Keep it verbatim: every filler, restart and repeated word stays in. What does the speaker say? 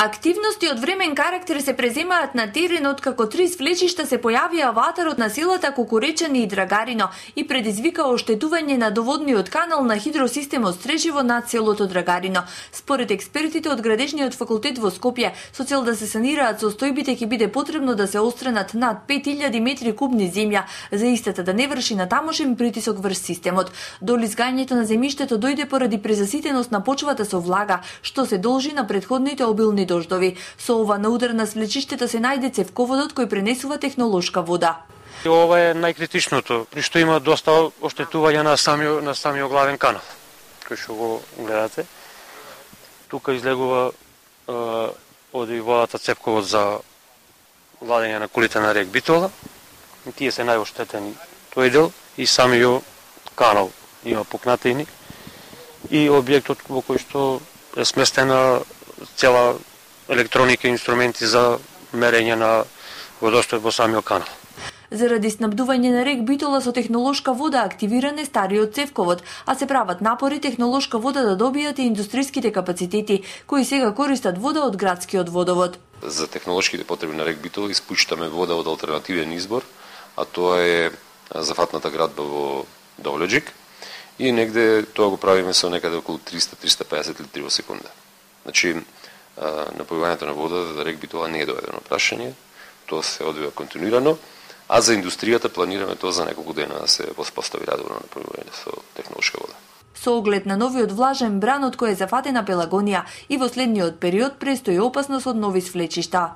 Активности од времен карактер се преземаат на теренот, како три свлечишта се појавија во атарот на селата Кукуречани и Драгарино и предизвика оштетување на доводниот канал на хидросистемот Стрежево над селото Драгарино. Според експертите од Градежниот факултет во Скопје, со цел да се санираат состојбите ќе биде потребно да се остренат над пет илјади метри кубни земја за истата да не врши на тамошен притисок врз системот. Долизгањето на земјиштето дојде поради презаситеност на почвата со влага, што се должи на претходните обилни дождови. Со ова на удар на свлечиштето се најде цевководот кој пренесува технолошка вода. Ова е најкритичното, при што има доста оштетување на самиот на самиот главен канал. Кој што го гледате, тука излегува е, оди водата цевковод за владење на колите на рек Битола. И тие се најоштетени тој дел и самиот канал има пукнатини и објектот во кој што е сместена цела електроника и инструменти за мерење на водостојот во самиот канал. Заради снабдување на рек Битола со технолошка вода активиран е стариот цевковод, а се прават напори технолошка вода да добијат и индустријските капацитети, кои сега користат вода од градскиот водовод. За технолошките потреби на рек Битола испуштаме вода од алтернативен избор, а тоа е зафатната градба во Довлеџик и негде тоа го правиме со некаде околу триста до триста и песет литри во секунда. Значи, напојувањето на вода за рек Битола не е доведено прашање, тоа се одвива континуирано, а за индустријата планираме тоа за неколку дена да се воспостави редовно напојување со технолошка вода. Со оглед на новиот влажен бран од кој е зафатена Пелагонија и во следниот период престои опасност од нови свлечишта.